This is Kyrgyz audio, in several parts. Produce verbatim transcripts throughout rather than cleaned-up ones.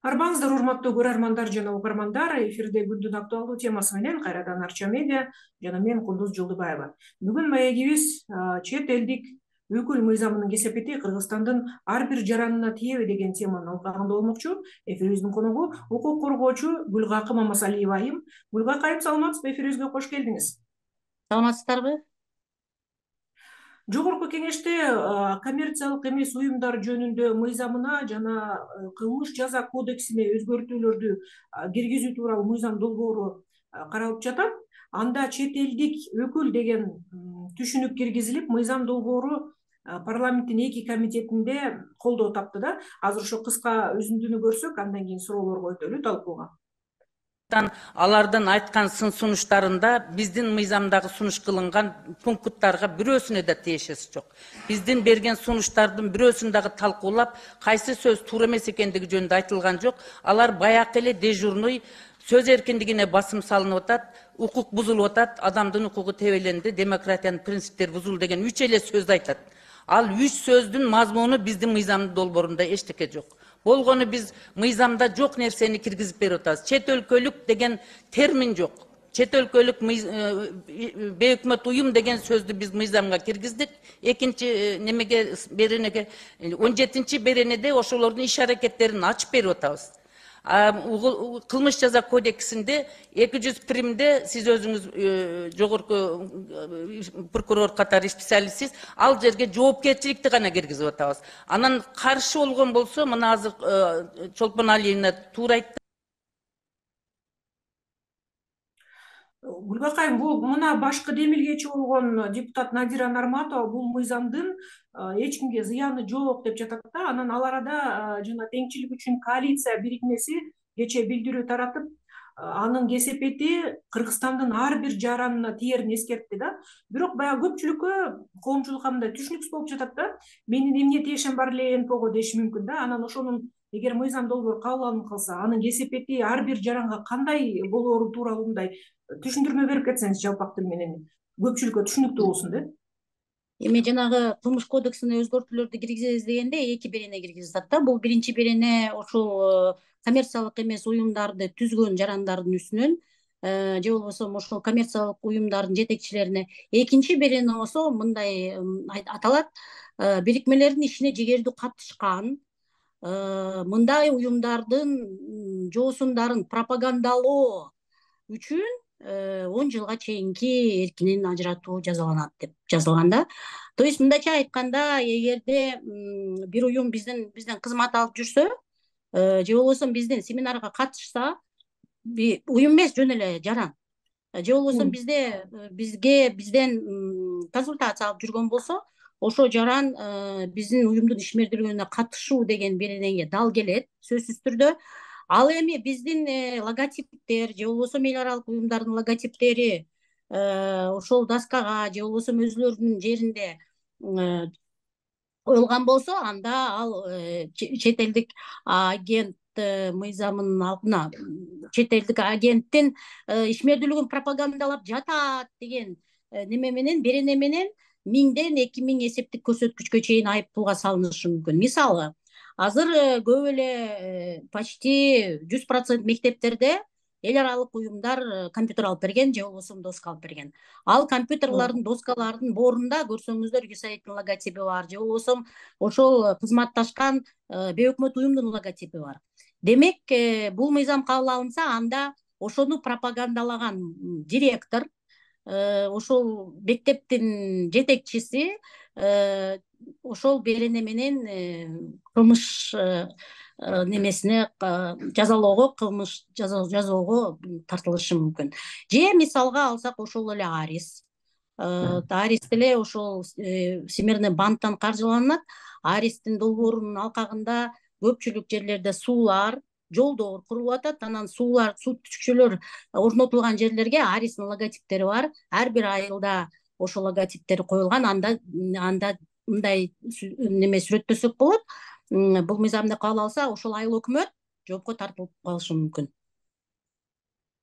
Арбаңыздар урматтуу көрөрмандар жана угармандар, эфирде күндүн актуалдуу темасы менен кайрадан Арча медиа жана мен Кундуз Жолдубаева. Бүгүн маегибиз чет элдик өкүл мыйзамынын кесепети Кыргызстандын ар бир жаранына тиеби деген теманын алкагында болмокчу. Эфирибиздин коногу укук коргоочу Гүлгакы Мамасалиева айым. Гүлгакы айым, саламатсызбы? Эфирибизге кош келдиңиз. Саламатсыздарбы? Жогорку кеңеште коммерциялык эмес уюмдар жөнүндө мыйзамына жана кылмыш жаза кодексине өзгөртүүлөрдү киргизүү тууралуу мыйзам долбоору каралып жатат. Анда чет элдик өкүл деген түшүнүк киргизилип, мыйзам долбоору парламенттин эки комитетинде колдоо тапты да. Азыр ошо кыска үзүндүнү көрсөк, андан кийин суроолорго өтөлү талкууга. Алардын айткан сын сунуштарында биздин мыйзамдагы сунуш кылынган пункттарга бирөөсүнө да тиешеси жок. Биздин берген сунуштардын бирөөсүн дагы талкуулап, кайсы сөз туура эмес экендиги жөнүндө айтылган жок. Алар баягы эле дежурный сөз эркиндигине басым салынып атат, укук бузулуп атат, адамдын укугу тебеленди, демократиянын принциптери бузулду деген үч эле сөздү айтат. Ал үч сөздүн мазмуну биздин мыйзам долбоорунда эчтеке жок. Болгону биз мыйзамда жок нерсени киргизип берип атабыз. Чет өлкөлүк деген термин жок. Чет өлкөлүк бейөкмөт уюм деген сөздү биз мыйзамга киргиздик. Экинчи немеге беренеге он жетинчи беренеде ошолордун иш аракеттерин ачып берип атабыз. Кылмыш жаза кодексинде эки жүз примде сиз өзүңүз жогорку прокурор катары специалистсиз, ал жерге жоопкерчиликти гана киргизип атабыз. Анан каршы болгон болсо, мына азыр Чолпон Алиевна туура айтты. Гүлгакы айым, бул мына башкы демилгечи болгон депутат Надира Нарматова бул мыйзамдын эч кимге зыяны жок деп жатат да. Анан ал арада жана теңчилик үчүн коалиция бирикмеси кечээ билдирүү таратып, анын кесепети Кыргызстандын ар бир жаранына тиерин эскертти да. Бирок баягы көпчүлүккө, коомчулукка мындай түшүнүксүз болуп жатат да. Менин эмне тиешем бар эле эн пэ о го деши мүмкүн да. Анан ошонун эгер мыйзам долбоору кабыл алынып калса, анын кесепети ар бир жаранга кандай болоору тууралуу мындай түшүндүрмө берип кетсеңиз жалпак тил менен, көпчүлүккө түшүнүктүү болсун да. Эми жанагы кылмыш кодексине өзгөртүүлөрдү киргизебиз дегенде эки берене киргизип атат да. Бул биринчи берене ошол коммерциялык эмес уюмдарды түзгөн жарандардын үстүнөн, же болбосо ошол коммерциялык уюмдардын жетекчилерине. Экинчи берене болсо мындай аталат: бирикмелердин ишине жегердүү катышкан мындай уюмдардын жоосундарын пропагандалоо үчүн он жылга чейинки эркинен ажыратуу жазаланат деп жазылган да. То есть мындайча айтканда, эгерде бир уюм бизден бизден кызмат алып жүрсө, же болбосо биздин семинарга катышса, уюм эмес, жөн эле жаран, же болбосо бизде бизге бизден консультация алып жүргөн болсо, ошо жаран биздин уюмдун ишмердүүлүгүнө катышуу деген беренеге дал келет, сөзсүз түрдө. Ал эми биздин логотиптер же болбосо эл аралык уюмдардын логотиптери ошол доскага же болбосо өзүлөрүнүн жеринде коюлган болсо, анда ал чет элдик агент мыйзамынын алдына, чет элдик агенттин ишмердүүлүгүн пропагандалап жатат деген неме менен, берене менен миңден эки миң эсептик көрсөткүчкө чейин айып пулга салынышы мүмкүн. Мисалы, азыр көп эле почти жүз процент мектептерде эл аралык уюмдар компьютер алып берген, же болбосо доска алып берген. Ал компьютерлардын, доскалардын боорунда көрсөңүздөр юсаидтин логотипи бар, же болбосо ошол кызматташкан бейөкмөт уюмдун логотипи бар. Демек, бул мыйзам кабыл алынса, анда ошону пропагандалаган директор, ошол мектептин жетекчиси ошол берене менен кылмыш немесине жазалоого, кылмыш жазоого тартылышы мүмкүн. Же мисалга алсак, ошол эле Арис. Арис деле ошол Всемирный банктан каржыланат. Аристин долбоорунун алкагында көпчүлүк жерлерде суулар, жолдор курулуп атат. Анан суулар, суу түшкүчөлөр орнотулган жерлерге Аристин логотиптери бар. Ар бир айылда ошол логотиптери коюлган. Анда анда мындай неме сүрөттөсөк болот. Бул мыйзамды кабыл алса, ошол айыл өкмөт жоопко тартылып калышы мүмкүн.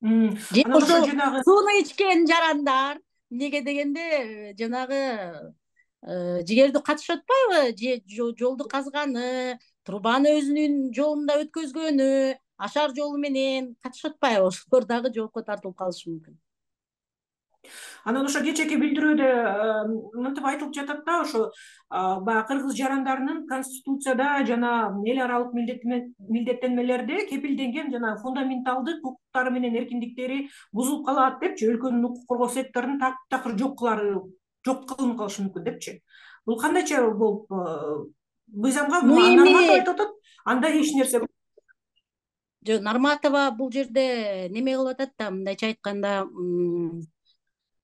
Же ошол сууну ичкен жарандар, эмнеге дегенде, жанагы жигерди катышып атпайбы, же жолду казганы, трубаны өзүнүн жолунда өткөзгөнү, ашар жолу менен катышып атпайбы, ошолор дагы жоопко тартылып калышы мүмкүн. Анан ошо кечээки билдирүүдө мынтип айтылып жатат да, ошо баягы кыргыз жарандарынын конституцияда жана эл аралык милдеттенмелерде кепилденген жана фундаменталдык укуктары менен эркиндиктери бузулуп калат депчи, өлкөнүн укук коргоо секторун такыр жок кылары жок кылынып калышы мүмкүн депчи. Бул кандайча болуп мыйзамга Нарматова айтып атат, анда эч нерсе жок. Нарматова бул жерде неме кылып атат да, мындайча айтканда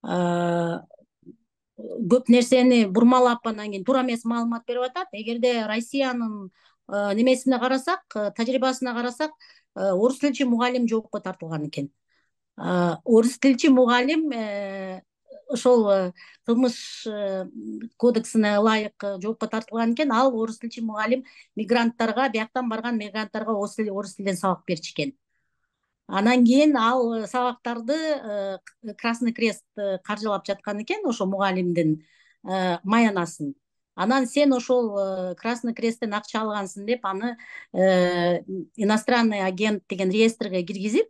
көп нерсени бурмалап, анан кийин туура эмес маалымат берип атат. Эгерде Россиянын немесине карасак, тажрыйбасына карасак, орус тилчи мугалим жоопко тартылган экен. Орус тилчи мугалим ошол кылмыш кодексине ылайык жоопко тартылган экен. Ал орус тилчи мугалим мигранттарга, бияктан барган мигранттарга орус тилинен сабак берчү экен. Анан кийин ал сабактарды Красный Крест каржылап жаткан экен, ошо мугалимдин маянасын. Анан сен ошол Красный Кресттен акча алгансың деп, аны иностранный агент деген реестрге киргизип,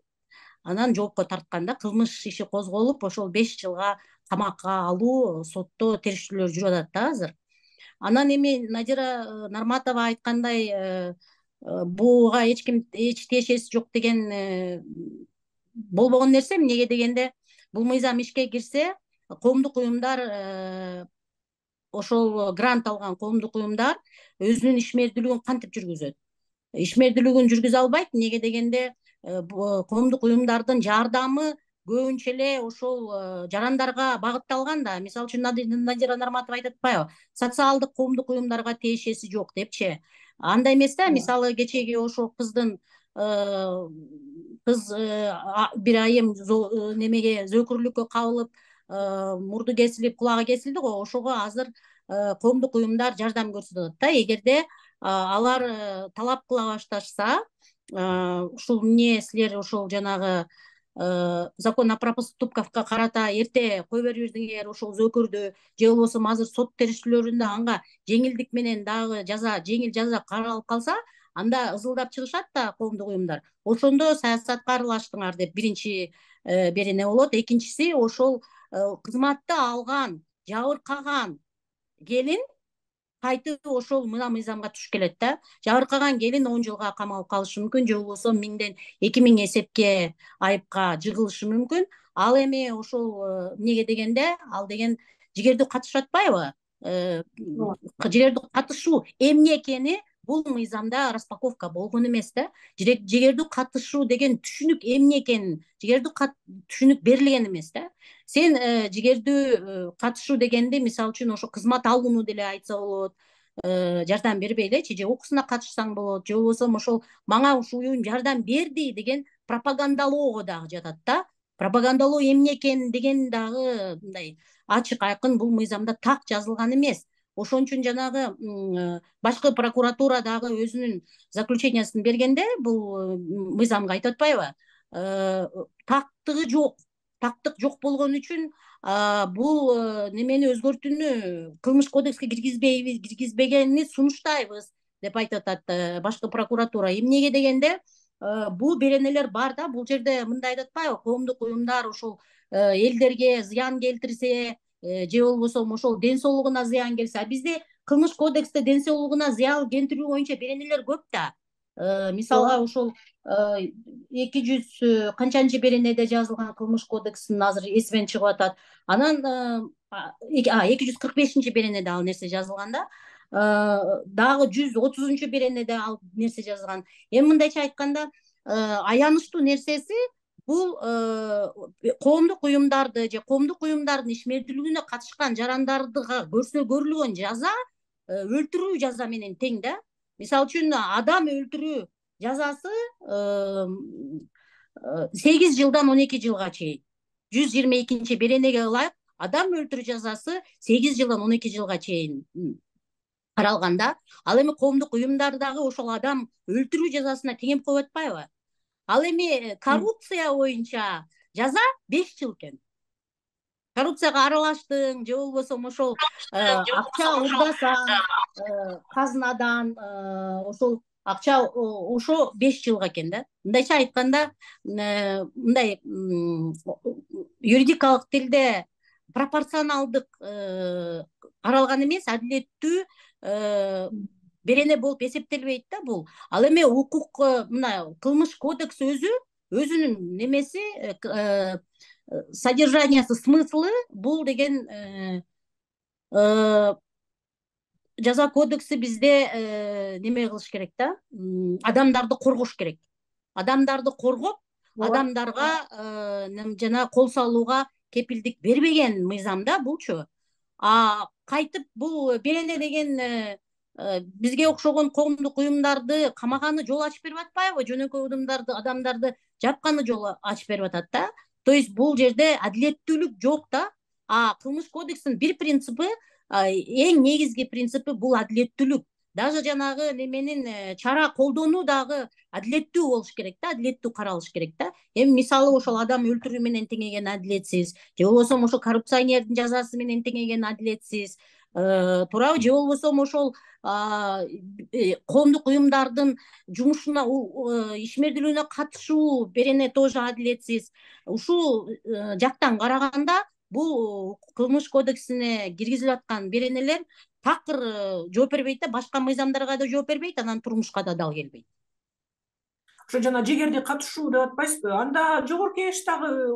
анан жоопко тартканда кылмыш иши козголуп, ошол беш жылга камакка алуу сотто териштирүүлөр жүрүп атат да азыр. Анан эми Надира Нарматова айткандай, буга эч ким эч тиешеси жок деген болбогон нерсе. Эмнеге дегенде, бул мыйзам ишке кирсе, коомдук уюмдар, ошол грант алган коомдук уюмдар өзүнүн ишмердүүлүгүн кантип жүргүзөт? Ишмердүүлүгүн жүргүзө албайт. Эмнеге дегенде, коомдук уюмдардын жардамы көбүнчө эле ошол жарандарга багытталган да. Мисалы үчүн Надира Нарматова айтып атпайбы, социалдык коомдук уюмдарга тиешеси жок депчи. Андай эмес да. Мисалы кечеги ошол кыздын кыз бир айым немеге зөөкүрлүккө кабылып, мурду кесилип, кулагы кесилди го. Ошого азыр коомдук уюмдар жардам көрсөтүп атат да. Эгерде алар талап кыла башташса, ушул эмне силер ошол жанагы закон о проступкавка карата эрте кой бербедиңер ошол зөөкүрдү, же болбосо азыр сот териштирүүлөрүндө анга жеңилдик менен дагы жаза, жеңил жаза каралып калса, анда ызылдап чыгышат да коомдук уюмдар. Ошондо саясатка аралаштыңар деп биринчи берене болот. Экинчиси, ошол кызматты алган, жабыркаган келин кайтып ошол мына мыйзамга туш келет да. Жабыркаган келин он жылга камалып калышы мүмкүн, же болбосо миңден эки миң эсепке айыпка жыгылышы мүмкүн. Ал эми ошол эмнеге дегенде, ал деген жигердүү катышып атпайбы? Жигердүү катышуу эмне экени бул мыйзамда распаковка болгон эмес да. Жигердүү катышуу деген түшүнүк эмне экенин, жигердүү түшүнүк берилген эмес да. Сен жигердүү катышуу дегенди, мисалы үчүн, ошо кызмат алууну деле айтса болот, жардам бербей элечи, же окуусуна катышсаң болот, же болбосо ошол мага ушул уюм жардам берди деген пропагандалоого дагы жатат да. Пропагандалоо эмне экен деген дагы мындай ачык айкын бул мыйзамда так жазылган эмес. Ошон үчүн жанагы башкы прокуратура дагы өзүнүн заключениясын бергенде бул мыйзамга айтып атпайбы? Тактыгы жок. Тактык жок болгон үчүн бул немени өзгөртүүнү кылмыш кодекске киргизбейбиз, киргизбегенин сунуштайбыз деп айтып атат башкы прокуратура. Эмнеге дегенде, бул беренелер бар да. Бул жерде мындай айтып атпайбы? Коомдук уюмдар ошол элдерге зыян келтирсе, же болбосо ошол ден соолугуна зыян келсе. Бизде кылмыш кодексте ден соолугуна зыян келтирүү боюнча беренелер көп да. Мисалга ошол эки жүз канчанчы беренеде жазылган кылмыш кодексин азыр эсимен чыгып атат. Анан эки жүз кырк бешинчи беренеде ал нерсе жазылган да. Дагы жүз отузунчу беренеде ал нерсе жазылган. Эми мындайча айтканда, аянычтуу нерсеси бул коомдук уюмдарды же коомдук уюмдардын ишмердүүлүгүнө катышкан жарандардыга көрсөтүлгөн жаза өлтүрүү жаза менен тең да. Мисалы үчүн, адам өлтүрүү жазасы сегиз жылдан он эки жылга чейин. жүз жыйырма экинчи беренеге ылайык адам өлтүрүү жазасы сегиз жылдан он эки жылга чейин каралган да. Ал эми коомдук уюмдар дагы ошол адам өлтүрүү жазасына теңеп коюп атпайбы? Ал эми коррупция боюнча жаза беш жыл экен. Коррупцияга аралаштың, же болбосо ошол акча урдасаң казынадан, ошол акча ошо беш жылга экен да. Мындайча айтканда, мындай юридикалык тилде пропорционалдык каралган эмес, адилеттүү берене болуп эсептелбейт да бул. Ал эми укук, мына кылмыш кодекси өзү өзүнүн немеси, содержаниясы, смыслы бул деген жаза кодекси бизде неме кылыш керек да, адамдарды коргош керек. Адамдарды коргоп, адамдарга жана кол салууга кепилдик бербеген мыйзам да булчу. А кайтып бул берене деген бизге окшогон коомдук уюмдарды камаганы жол ачып берип атпайбы? Жөнөкөй адамдарды адамдарды жапканы жол ачып берип атат да. То есть бул жерде адилеттүүлүк жок да. А кылмыш кодексинин бир принципи, эң негизги принципи бул адилеттүүлүк. Даже жанагы неменин чара колдонуу дагы адилеттүү болуш керек да, адилеттүү каралыш керек да. Эми мисалы ошол адам өлтүрүү менен теңеген адилетсиз, же болбосо ошол коррупционердин жазасы менен теңеген адилетсиз, туурабы? Же болбосо ошол коомдук уюмдардын жумушуна, ишмердүүлүгүнө катышуу берене тоже адилетсиз. Ушул жактан караганда бул кылмыш кодексине киргизилип аткан беренелер такыр жооп бербейт да, башка мыйзамдарга да жооп бербейт, анан турмушка да дал келбейт. Ошо жана жегерди катышуу деп атпайсызбы? Анда жогорку кеңештагы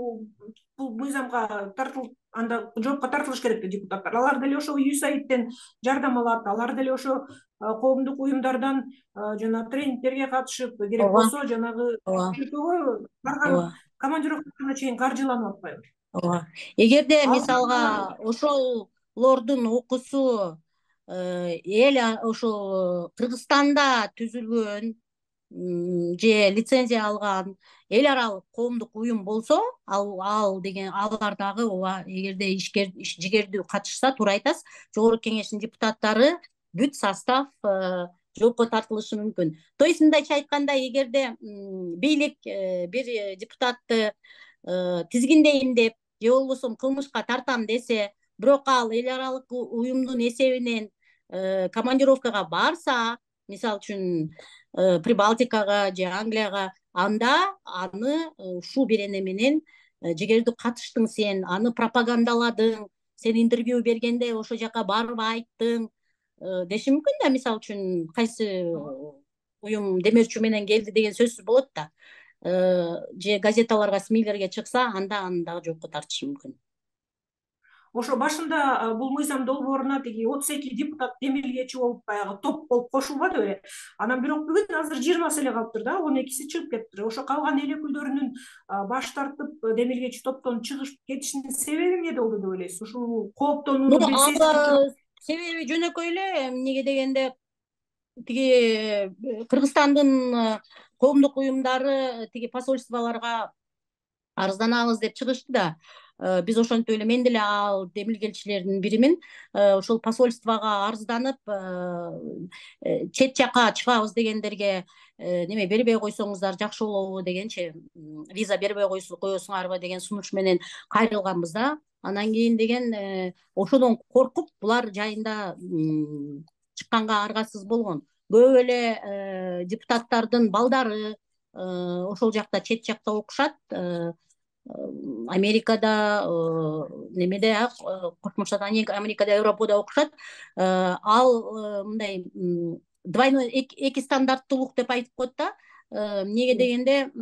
бул мыйзамга тартылып, анда жоопко тартылыш керек да депутаттар. Алар деле ошо ю эс эй ай ден жардам алат, алар деле ошо коомдук уюмдардан жана тренингтерге катышып, керек болсо жанагы өлкөгө барган командировкасына чейин каржыланып атпайбы? Ооба. Эгерде мисалга ошолордун окуусу эл ошо Кыргызстанда түзүлгөн же лицензия алган эл аралык коомдук уюм болсо, ал ал деген алар дагы ооба, эгерде ишкер жигердүү катышса, туура айтасыз, жогорку кеңештин депутаттары бүт состав жоопко тартылышы мүмкүн. То есть мындайча айтканда, эгерде бийлик бир депутатты тизгиндейм деп, же болбосо кылмышка тартам десе, бирок ал эл аралык уюмдун эсебинен командировкага барса, мисалы үчүн Прибалтикага же Англияга, анда аны ушул берене менен жигердүү катыштың сен, аны пропагандаладың, сен интервью бергенде ошол жака барып айттың деши мүмкүн да. Мисалы үчүн кайсы уюм демөөрчү менен келди деген сөзсүз болот да. Же газеталарга, СМИлерге чыкса, анда аны дагы жоопко тартышы мүмкүн. Ошо башында бул мыйзам долбооруна тиги отуз эки депутат демилгечи болуп, баягы топ болуп кошулбады беле? Анан бирок бүгүн азыр жыйырмасы эле калыптыр да, он экиси чыгып кетиптир. Ошо калган эл өкүлдөрүнүн баш тартып демилгечи топтон чыгышып кетишинин себеби эмнеде болду деп ойлойсуз? Ушул кооптонууну билсеңиз. Себеби жөнөкөй эле, эмнеге дегенде, тиги Кыргызстандын коомдук уюмдары тиги посольстволорго арызданабыз деп чыгышты да. Биз ошентип эле, мен деле ал демилгелчилердин биримин. Ошол посольствого арызданып, чет жака чыгабыз дегендерге неме бербей койсоңуздар жакшы болобу дегенчи, виза бербей коесуңарбы деген сунуш менен кайрылганбыз да. Анан кийин деген ошодон коркуп, булар жайында чыкканга аргасыз болгон. Көп эле депутаттардын балдары ошол жакта, чет жакта окушат. Америкада, немеде, Кошмо Штат Америкада, Европада окушат. Ал мындай двойной, эки стандарттуулук деп айтып коет да. Эмнеге дегенде,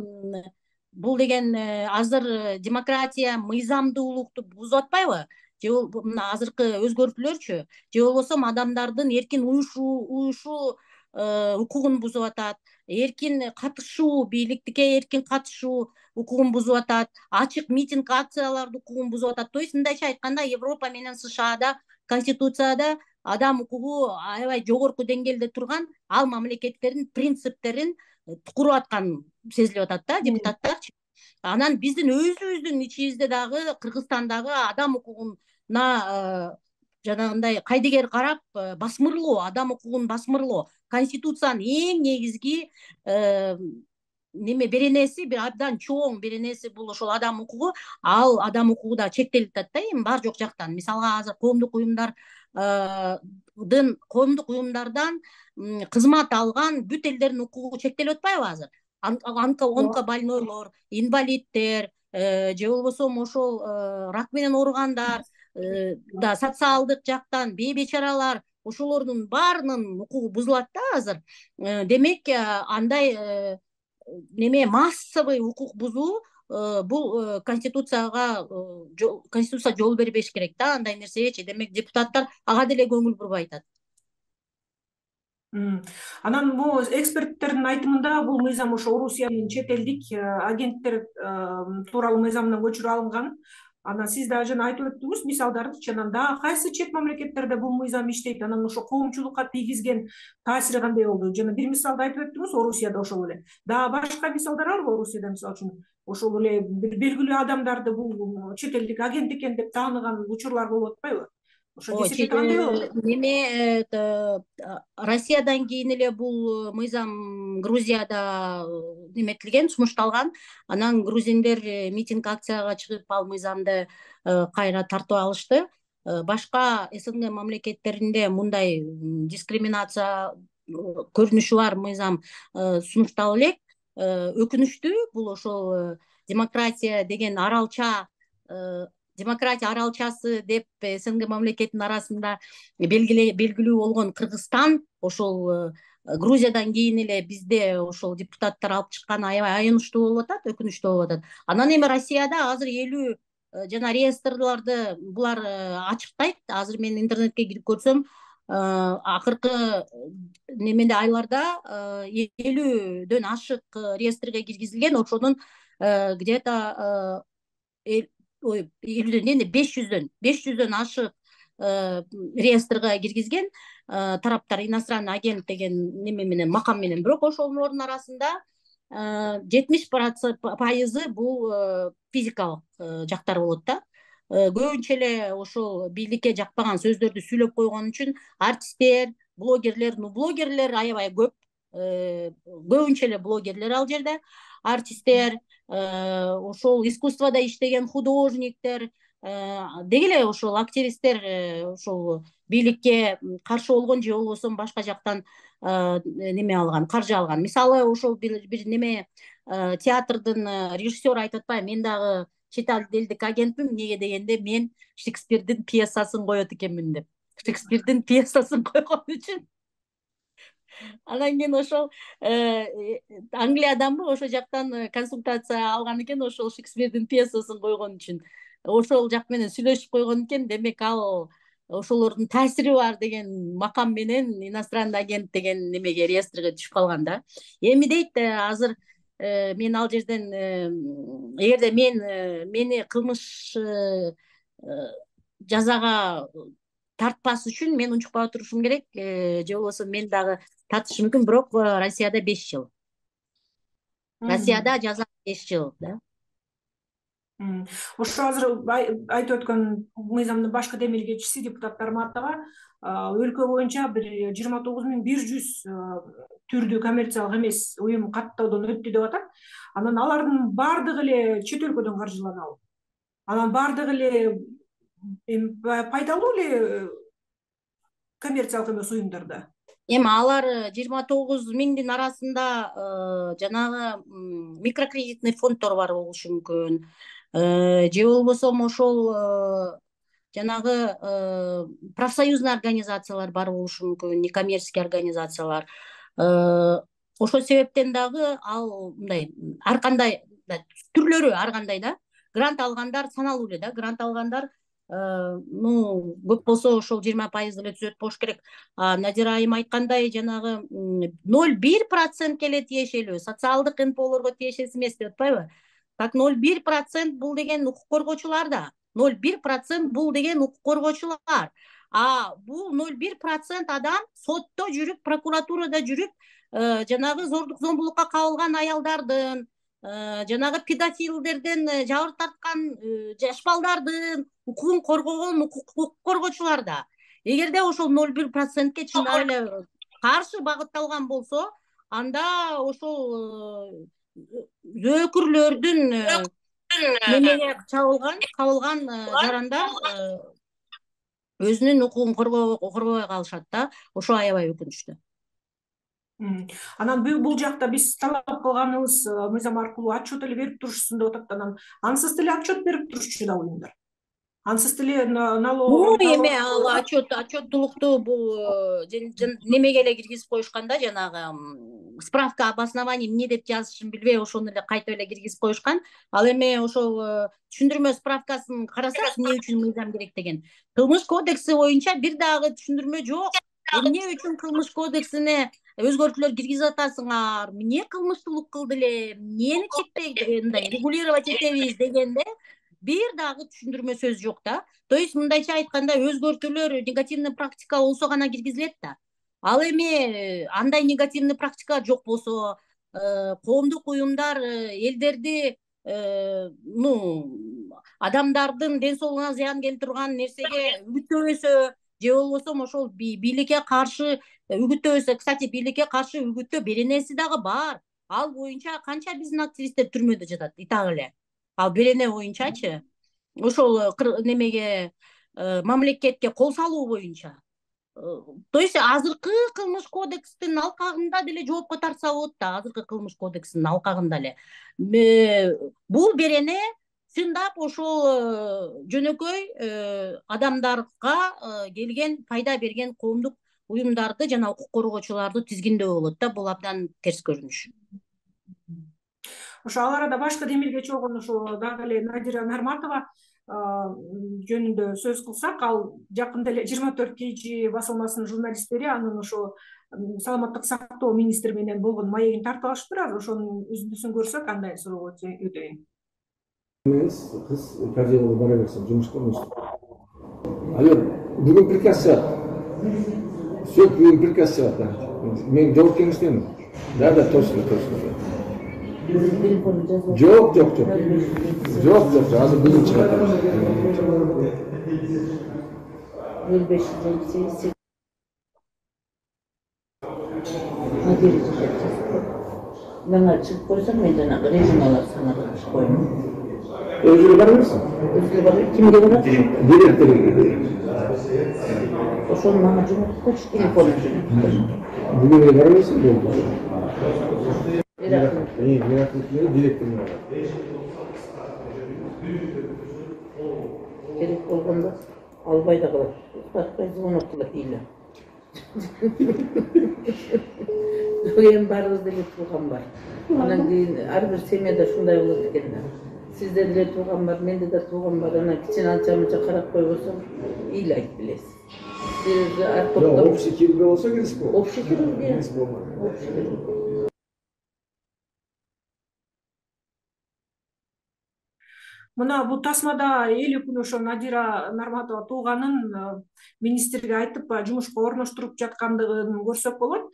бул деген азыр демократия, мыйзамдуулукту бузуп атпайбы? Же мына азыркы өзгөртүүлөрчү, же болбосо адамдардын эркин уюшуу, уюшуу укугун бузуп атат, эркин катышуу, бийликтикке эркин катышуу укугун бузуп атат, ачык митинг, акцияларды укугун бузуп атат. То есть мындайча айтканда, Европа менен США-да, Конституцияда адам укугу аябай жогорку деңгээлде турган, ал мамлекеттердин принциптерин тукуруп аткан сезилип атат да, депутаттар. Анан биздин өзүбүздүн ичибизде дагы, Кыргызстандагы адам укугуна жанагындай кайдыгер карап, басмырлоо, адам укугун басмырлоо. Конституциянын эң негизги неме беренеси, бир абдан чоң беренеси бул ошол адам укугу. Ал адам укугу да чектелип атат да, эми бар жок жактан. Мисалга азыр коомдук уюмдар коомдук уюмдардан кызмат алган бүт элдердин укугу чектелип атпайбы азыр? Онкобольнойлор, инвалиддер, же болбосо ошол рак менен ооругандар, да социалдык жактан бейбечаралар, ошолордун баарынын укугу бузулат да азыр. Демек, андай неме массовый укук бузуу бул конституцияга конституция жол бербеш керек да андай нерсегечи. Демек, депутаттар ага деле көңүл бурбай атат. Анан бул эксперттердин айтымында бул мыйзам ошо Орусиянын чет элдик агенттер тууралуу мыйзамына көчүрүп алынган. Анан сиз дагы жана айтып өттүңүз мисалдарды, жана дагы кайсы чет мамлекеттерде бул мыйзам иштейт, анан ошо коомчулукка тийгизген таасири кандай болду? Жана бир мисалды айтып өттүңүз, Орусияда ошол эле. Дагы башка мисалдар барбы Орусияда, мисалы үчүн ошол эле бир белгилүү адамдарды бул чет элдик агент экен деп тааныган учурлар болуп атпайбы? Ошо кесепет кандай болот? Неме Россиядан кийин эле бул мыйзам Грузияда неметилген, сунушталган. Анан грузиндер митинг акцияга чыгып ал мыйзамды кайра тартып алышты. Башка СНГ мамлекеттеринде мындай дискриминация көрүнүшү бар мыйзам сунушталып элек. Өкүнүчтүү, бул ошол демократия деген аралча демократия аралчасы деп СНГ мамлекетинин арасында белгилүү болгон Кыргызстан ошол Грузиядан кийин эле бизде ошол депутаттар алып чыккан аябай аянычтуу болуп атат, өкүнүчтүү болуп атат. Анан эми Россияда азыр элүү жана реестрларды булар ачыктайт. Азыр мен интернетке кирип көрсөм, акыркы немеде айларда элүүдөн ашык реестрге киргизилген, ошонун где-то ой элүүдөн эми беш жүздөн беш жүздөн ашык реестрге киргизген тараптар, иностранный агент деген неме менен, макам менен. Бирок ошолордун арасында жетимиш пайызы бул физикалык жактар болот да. Көбүнчө эле ошол бийликке жакпаган сөздөрдү сүйлөп койгон үчүн артисттер, блогерлер, ну блогерлер аябай көп. Көбүнчө эле блогерлер ал жерде, артисттер, ошол искусствода иштеген художниктер, деги эле ошол активисттер ошол бийликке каршы болгон же болбосо башка жактан неме алган, каржы алган. Мисалы, ошол бир неме театрдын режиссеру айтып атпайбы, мен дагы чет элдик агентмин, эмнеге дегенде мен Шекспирдин пьесасын коет экенмин деп. Шекспирдин пьесасын койгон үчүн. Анан кийин ошол Англияданбы ошол жактан консультация алган экен, ошол Шекспирдин пьесасын койгон үчүн. Ошол жак менен сүйлөшүп койгон экен. Демек, ал ошолордун таасири бар деген макам менен иностранный агент деген немеге, реестрге түшүп калган да. Эми дейт, азыр мен ал жерден эгерде мен мени кылмыш жазага тартпас үчүн мен унчукпай турушум керек, же болбосо мен дагы тартышым мүмкүн. Бирок Россияда беш жыл. Россияда жаза беш жыл да. Ошо азыр айтып өткөн мыйзамдын башкы демилгечиси депутаттар Мартова өлкө боюнча бир жыйырма тогуз миң бир жүз түрдүү коммерциялык эмес уюм каттоодон өттү деп атат. Анан алардын баардыгы эле чет өлкөдөн каржыланабы? Анан баардыгы эле пайдалуу эле коммерциялык эмес уюмдарда? Эми алар жыйырма тогуз миңдин арасында жанагы микрокредитный фонддор бар болушу мүмкүн. Же болбосо ошол жанагы профсоюзный организациялар бар болушу мүмкүн, некоммерческий организациялар. Ошол себептен дагы ал мындай ар кандай түрлөрү ар кандай да. Грант алгандар саналуу эле да. Грант алгандар ну көп болсо ошол жыйырма пайыз эле түзөт болуш керек. Надира айым айткандай, жанагы ноль бир процентке эле тиешелүү, социалдык эн пэ олорго тиешеси эмес деп атпайбы? Так ноль бир процент бул деген укук коргоочулар да. ноль бир процент бул деген укук коргоочулар. А бул ноль бир процент адам сотто жүрүп, прокуратурада жүрүп, жанагы зордук зомбулукка кабылган аялдардын, жанагы педофилдерден жабыр тарткан жаш балдардын укугун коргогон укук коргоочулар да. Эгерде ошол ноль бир процентке чындап эле каршы багытталган болсо, анда ошол зөөкүрлөрдүн немеге чабылган, кабылган жарандар өзүнүн укугун коргобой калышат да. Ошо аябай өкүнүчтүү. Анан бул жакта биз талап кылганыбыз мыйзам аркылуу отчет эле берип турушсун деп атат. Анан ансыз деле отчет берип турушчу да уюмдар. Ансыз деле налог эме ал отчет отчеттулукту бул немеге эле киргизип коюшкан да, жанагы справка об основании эмне деп жазышын билбей ошону эле кайтып эле киргизип коюшкан. Ал эми ошол түшүндүрмө справкасын карасак, эмне үчүн мыйзам керек деген. Кылмыш кодекси боюнча бир дагы түшүндүрмө жок. Эмне үчүн кылмыш кодексине өзгөртүүлөр киргизип атасыңар? Эмне кылмыштуулук кылды эле? Эмнени чектей мындай регулировать этебиз дегенде бир дагы түшүндүрмө сөз жок да. То есть мындайча айтканда өзгөртүүлөр негативный практика болсо гана киргизилет да. Ал эми андай негативный практика жок болсо, коомдук уюмдар элдерди, ну, адамдардын ден соолугуна зыян келтирип турган нерсеге үгүттөбөсө, же болбосо ошол бийликке каршы үгүттөбөсө, кстати, бийликке каршы үгүттөө беренеси дагы бар. Ал боюнча канча биздин активисттер түрмөдө жатат, итак эле. Ал берене боюнчачы, ошол немеге мамлекетке кол салуу боюнча. То есть азыркы кылмыш кодекстин алкагында деле жоопко тартса болот да, азыркы кылмыш кодекстин алкагында эле. Бул берене чындап ошол жөнөкөй адамдарга келген пайда берген коомдук уюмдарды жана укук коргоочуларды тизгиндөө болот да. Бул абдан терс көрүнүш. Ошо ал арада башкы демилгечи болгон ошо дагы эле Надира Нарматова жөнүндө сөз кылсак, ал жакында эле жыйырма төрт кей жи басылмасынын журналисттери анын ошо саламаттык сактоо министри менен болгон маегин тартып алышыптыр. Азыр ошонун үзүндүсүн көрсөк, андай суроого өтөйүн. Кыз кардиологко бара берсин, жумушка эмес. Алё, бүгүн приказ чыгат. Все, бүгүн приказ чыгат. Мен жооп кеңештемин. Да, да, точно, точно. Жок, жок, жок. Жок, жок, азыр бүгүн чыгат. нөл беш нөл сегиз Мага чыгып койсоң, мен жанагы режималар санаган коюм. Өзү бара берсин. Өзү бара, кимге барат? Директорго. Ошону мага жумуп койчу, телефонун жумуп. Бүгүн эле бара берсин, болду. Рахмат. Эми рахмат директорго барат. Керек болгондо албай да калат. Башка звонок кылат эле. Эми баарыбызда эле тууган бар. Анан кийин ар бир семьяда ушундай болот экен да. Сизде деле тууган бар, менде да тууган бар. Анан кичине анча-мынча карап койбосоң, эл айтып билесиз. Сиз ар топтор общий кирүүгө болсо киришип болот. общий кирүүгө. Общий кирүүгө. Мына бул тасмада элүү күн ошо Надира Нарматова тууганын министрге айтып жумушка орноштуруп жаткандыгын көрсөк болот.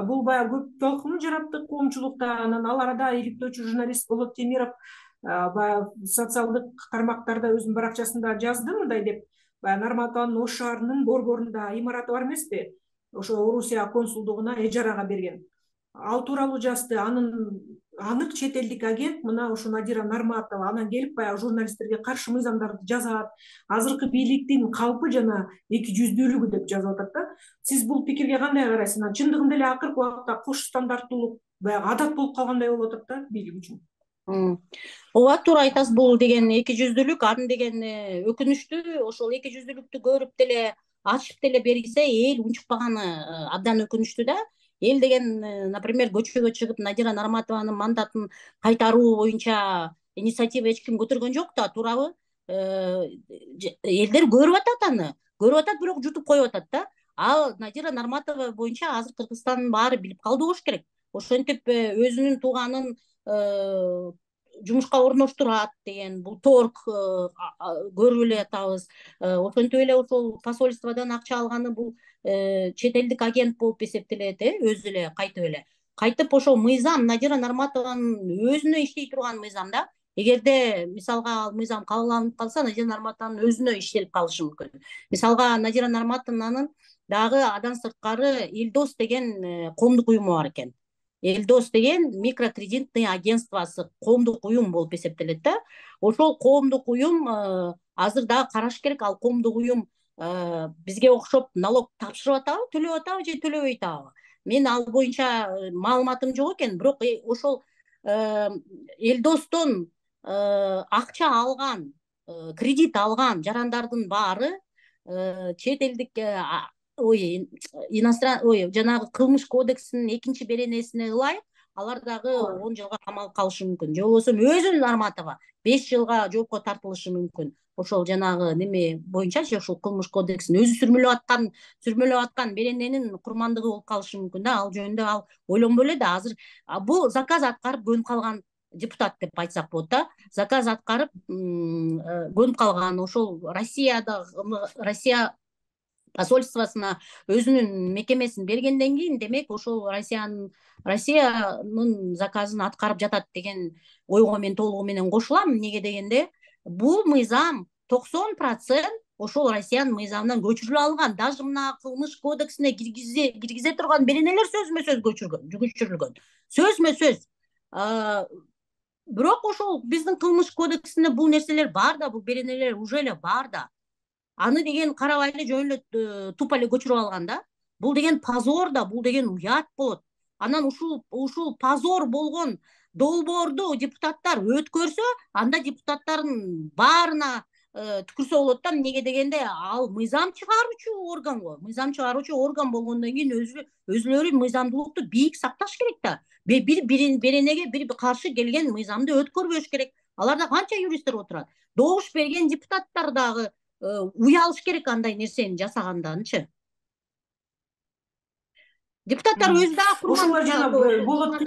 Бул баягы көп толкун жаратты коомчулукта. Анан ал арада иликтөөчү журналист Болот Темиров баягы социалдык тармактарда өзүнүн баракчасында жазды мындай деп: баягы Нарматованын Ош шаарынын борборунда имараты бар эмеспи? Ошо Орусия консулдугуна эжарага берген. Ал тууралуу жазды. Анын анык чет элдик агент мына ошо Надира Нарматова анан келип баягы журналисттерге каршы мыйзамдарды жазат. Азыркы бийликтин калпы жана эки жүздүүлүгү деп жазып атат да. Сиз бул пикирге кандай карайсыз? Чындыгында эле акыркы убакта кош стандарттуулук баягы атат болуп калгандай болуп атат да бийлик үчүн. Ооба, туура айтасыз. Бул деген эки жүздүүлүк, аны деген өкүнүчтүү. Ошол эки жүздүүлүктү көрүп деле ачып деле берилсе, эл унчукпаганы абдан өкүнүчтүү да. Эл деген, например, көчөгө чыгып Надира Нарматованын мандатын кайтаруу боюнча инициатива эч ким көтөргөн жок да, туурабы? Элдер көрүп атат аны, көрүп атат, бирок жутуп коюп атат да. Ал Надира Нарматова боюнча азыр Кыргызстандын баары билип калды болуш керек. Ошентип өзүнүн тууганын жумушка орноштурат деген бул торг көрүп эле атабыз. Ошентип эле ошол посольстводон акча алганы бул чет элдик агент болуп эсептелет, өзү эле кайтып эле. Кайтып ошол мыйзам Надира Нарматованын өзүнө иштей турган мыйзам да. Эгерде мисалга ал мыйзам кабыл алынып калса, Надира Нарматованын өзүнө иштелип калышы мүмкүн. Мисалга Надира Нарматованын дагы адан сырткары Элдос деген коомдук уюму бар экен. Элдос деген микрокредитный агентствосы коомдук уюм болуп эсептелет да. Ошол коомдук уюм азыр дагы караш керек. Ал коомдук уюм бизге окшоп налог тапшырып атабы, төлөп атабы же төлөбөй атабы? Мен ал боюнча маалыматым жок экен, бирок ошол Элдостон акча алган, кредит алган жарандардын баары чет элдик ой иностран ой жанагы кылмыш кодексинин экинчи беренесине ылайык алар дагы он жылга камалып калышы мүмкүн. Же болбосо өзүнүн Нарматова беш жылга жоопко тартылышы мүмкүн. Ошол жанагы неме боюнчачы, ошол кылмыш кодексин өзү сүрмөлөп аткан, сүрмөлөп аткан берененин курмандыгы болуп калышы мүмкүн да. Ал жөнүндө ал ойлонбой эле да. Азыр бул заказ аткарып көнүп калган депутат деп айтсак болот да. Заказ аткарып көнүп калган, ошол Россияда Россия посольствосуна өзүнүн мекемесин бергенден кийин, демек ошол Россиянын Россиянын заказын аткарып жатат деген ойго мен толугу менен кошулам. Эмнеге дегенде, бул мыйзам токсон процент ошол Россиянын мыйзамынан көчүрүлүп алган. Даже мына кылмыш кодексине киргизе киргизе турган беренелер сөзмө сөз көчүргөн, көчүрүлгөн. Сөзмө сөз. Бирок ошол биздин кылмыш кодексинде бул нерселер бар да, бул беренелер уже эле бар да. Аны деген карабай эле жөн эле тупа эле көчүрүп алган да. Бул деген позор да, бул деген уят болот. Анан ушул ушул позор болгон долбоорду депутаттар өткөрсө, анда депутаттардын баарына түкүрсө болот да. Эмнеге дегенде, ал мыйзам чыгаруучу орган го. Мыйзам чыгаруучу орган болгондон кийин өзү өзүлөрү мыйзамдуулукту бийик сакташ керек да. Бир беренеге бир каршы келген мыйзамды өткөрбөш керек. Аларда канча юристтер отурат. Добуш берген депутаттар дагы уялыш керек андай нерсени жасаганданчы. Депутаттар өзү дагы ошолор жана Болот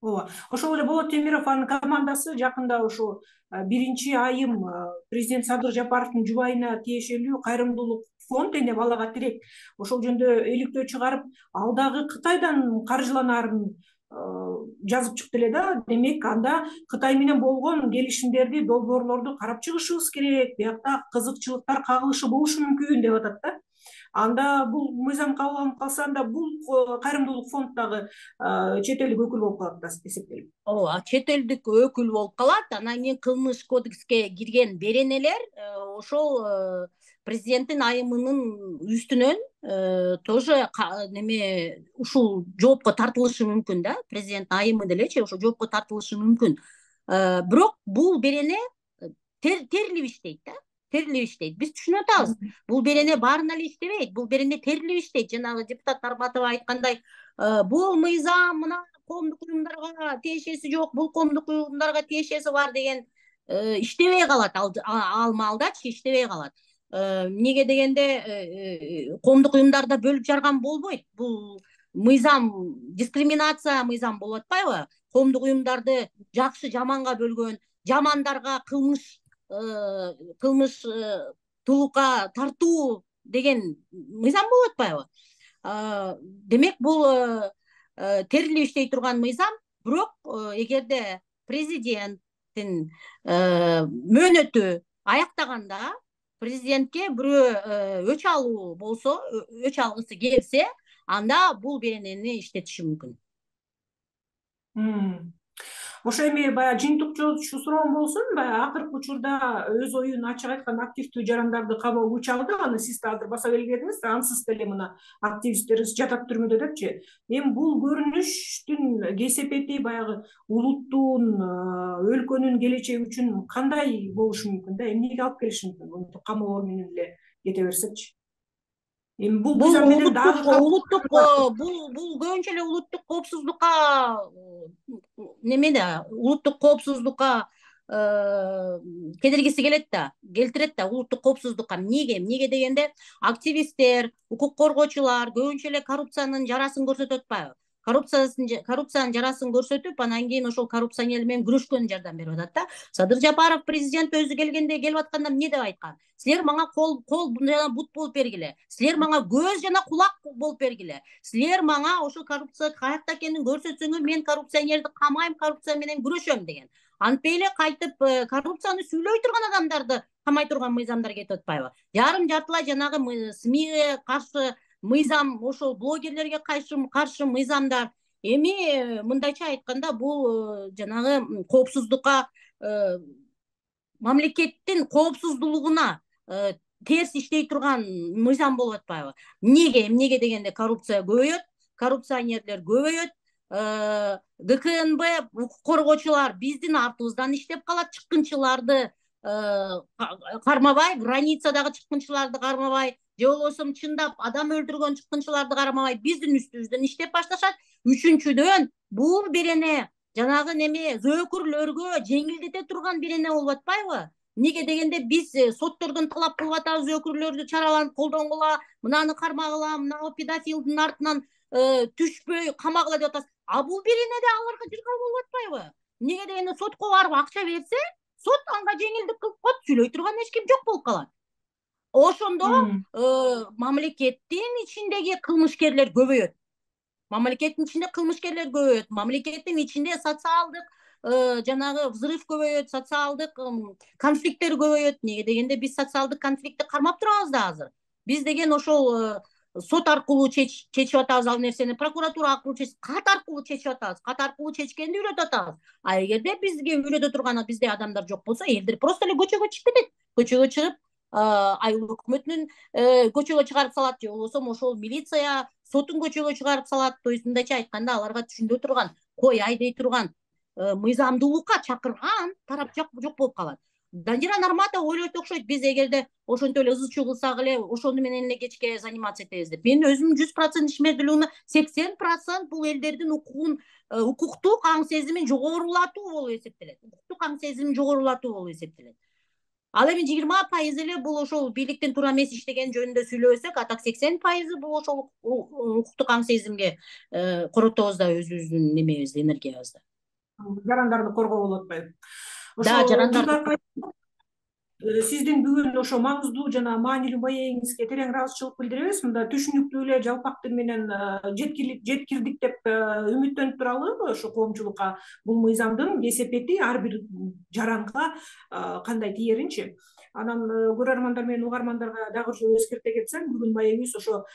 ооба ошол эле Болот Темировдун командасы жакында ошо биринчи айым президент Садыр Жапаровдун жубайына тиешелүү кайрымдуулук фонд дене балага тирек ошол жөнүндө иликтөө чыгарып, ал дагы Кытайдан каржыланаарын жазып чыкты эле да. Демек, анда Кытай менен болгон келишимдерди, долбоорлорду карап чыгышыбыз керек. Биякта кызыкчылыктар кагылышы болушу мүмкүн деп атат да. Анда бул мыйзам кабыл алынып калса, анда бул кайрымдуулук фонд дагы чет элдик өкүл болуп калат да, эсептелип. Ооба, чет элдик өкүл болуп калат. Анан кийин кылмыш кодекске кирген беренелер ошол президенттин айымынын үстүнөн тоже неме ушул жоопко тартылышы мүмкүн да. Президент айымы делечи ошо жоопко тартылышы мүмкүн. Бирок бул берене терилип иштейт да. Терилип иштейт. Биз түшүнүп атабыз. Бул берене баарына эле иштебейт. Бул берене терилип иштейт. Жанагы депутат Нарматова айткандай, бул мыйзам мына коомдук уюмдарга тиешеси жок, бул коомдук уюмдарга тиешеси бар деген иштебей калат. Ал маалдачы иштебей калат. Эмнеге дегенде, коомдук уюмдарда бөлүп жарган болбойт. Бул мыйзам дискриминация мыйзам болуп атпайбы? Коомдук уюмдарды жакшы жаманга бөлгөн, жамандарга кылмыш кылмыш тулукка тартуу деген мыйзам болуп атпайбы? Демек, бул терилип иштей турган мыйзам. Бирок эгерде президенттин мөөнөтү аяктаганда президентке бирөө өч алуу болсо, өч алгысы келсе, анда бул беренени иштетиши мүмкүн. Ошо эми баягы жыйынтык суроом болсун, баягы акыркы учурда өз оюн ачык айткан активдүү жарандарды кабыл учагында, аны сиз да азыр баса белгиледиңиз, ансыз деле мына активисттерибиз жатат түрмөдө депчи. Эми бул көрүнүштүн кесепети баягы улуттун, өлкөнүн келечеги үчүн кандай болушу мүмкүн да? Эмнеге алып келиши мүмкүн? Мынтип камоолор менен эле кете берсечи. Эми бул улуттук бул бул көбүнчө эле улуттук коопсуздукка неме да, улуттук коопсуздукка кедергиси келет да, келтирет да улуттук коопсуздукка. Эмнеге? Эмнеге дегенде, активисттер, укук коргоочулар көбүнчө эле коррупциянын жарасын көрсөтүп атпайбы? Коррупциясын коррупциянын жарасын көрсөтүп, анан кийин ошол коррупционер менен күрөшкөнгө жардам берип атат да. Садыр Жапаров президент өзү келгенде келип атканда эмне деп айткан? Силер мага кол кол жана бут болуп бергиле. Силер мага көз жана кулак болуп бергиле. Силер мага ошол коррупция каякта экенин көрсөтсөңөр, мен коррупционерди камайм, коррупция менен күрөшөм деген. Антпей эле кайтып коррупцияны сүйлөй турган адамдарды камай турган мыйзамдар кетип атпайбы? Жарым жартылай жанагы СМИге каршы мыйзам, ошол блогерлерге каршы каршы мыйзамдар. Эми мындайча айтканда, бул жанагы коопсуздукка мамлекеттин коопсуздулугуна терс иштей турган мыйзам болуп атпайбы? Эмнеге? Эмнеге дегенде коррупция көбөйөт, коррупционерлер көбөйөт, гэ ка эн бэ укук коргоочулар биздин артыбыздан иштеп калат, чыккынчыларды кармабай, границадагы чыккынчыларды кармабай, же болбосо чындап адам өлтүргөн чыккынчыларды кармабай, биздин үстүбүздөн иштеп башташат. Үчүнчүдөн, бул берене жанагы неме зөөкүрлөргө жеңилдете турган берене болуп атпайбы? Неге дегенде биз соттордон талап кылып атабыз, зөөкүрлөрдү чараланып колдонгула, мынаны кармагыла, мынау педофилдин артынан түшпөй камагыла деп атабыз. А бул беренеде аларга жыргал болуп атпайбы? Неге дегенде сотко барып акча берсе, сот анга жеңилдик кылып коет, сүйлөй турган эч ким жок болуп калат. Ошондо мамлекеттин ичиндеги кылмышкерлер көбөйөт. Мамлекеттин ичинде кылмышкерлер көбөйөт. Мамлекеттин ичинде социалдык жанагы взрыв көбөйөт, социалдык конфликттер көбөйөт. Неге дегенде биз социалдык конфликтти кармап турабыз да азыр. Биз деген ошол сот аркылуу чечип атабыз ал нерсени, прокуратура аркылуу чечип, кат аркылуу чечип атабыз. Кат аркылуу чечкенди үйрөтүп атабыз. А эгерде бизге үйрөтө турган бизде адамдар жок болсо, элдер просто эле көчөгө чыгып кетет. Көчөгө чыгып, айыл өкмөтүнүн көчөгө чыгарып салат, же болбосо ошол милиция сотун көчөгө чыгарып салат. То есть мындайча айтканда, аларга түшүндө турган, кой айдей турган, мыйзамдуулукка чакырган тарап жок болуп калат. Данжира Нарматова ойлойт окшойт, биз эгерде ошентип эле ызы чуу кылсак эле, ошону менен эле кечке заниматься этебиз деп. Мен өзүм жүз процент ишмердүүлүгүнө сексен процент бул элдердин укугун, укуктук аң сезимин жогорулатуу болуп эсептелет. Укуктук аң сезимин жогорулатуу болуп эсептелет. Ал эми жыйырма пайыз эле бул ошол бийликтин туура эмес иштеген жөнүндө сүйлөбөсөк, а так сексен пайызы бул ошол укуктук аң сезимге коротобуз да өзүбүздүн немебизди, энергиябызды. Жарандарды коргоо болуп атпайбы? Да, жарандарды. Сиздин бүгүн ошо маңыздуу жана маанилүү маегиңизге терең ыраазычылык билдиребиз. Мында түшүнүктүү эле жалпак тил менен жеткирдик деп үмүттөнүп туралы ошо коомчулукка бул мыйзамдын кесепети ар бир жаранга кандай тиеринчи. Анан көрөрмандар менен угармандарга дагы эскерте кетсем, бүгүн маегибиз ошо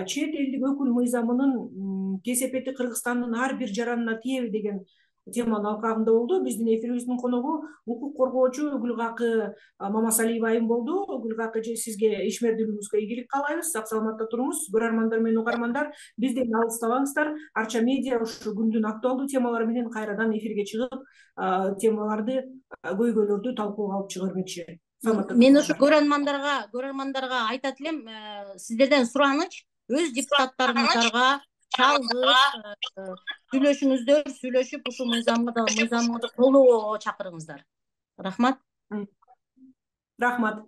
чет элдик өкүл мыйзамынын кесепети Кыргызстандын ар бир жаранына тиеби деген теманын алкагында болду. Биздин эфирибиздин коногу укук коргоочу Гүлгакы Мамасалиева айым болду. Гүлгакы эже, сизге ишмердүүлүгүңүзгө ийгилик каалайбыз. Сак саламатта туруңуз. Көрөрмандар менен угармандар, бизден алыстабаңыздар. Арча медиа ушу күндүн актуалдуу темалары менен кайрадан эфирге чыгып, темаларды, көйгөйлөрдү талкууга алып чыга бермекчи. Мен ошо көрөрмандарга, көрөрмандарга айтат элем, сиздерден сураныч, өз депутаттарыңыздарга чалгып, сүйлөшүңүздөр, сүйлөшүп ушул мыйзамды колдоого чакырыңыздар. Рахмат. Рахмат.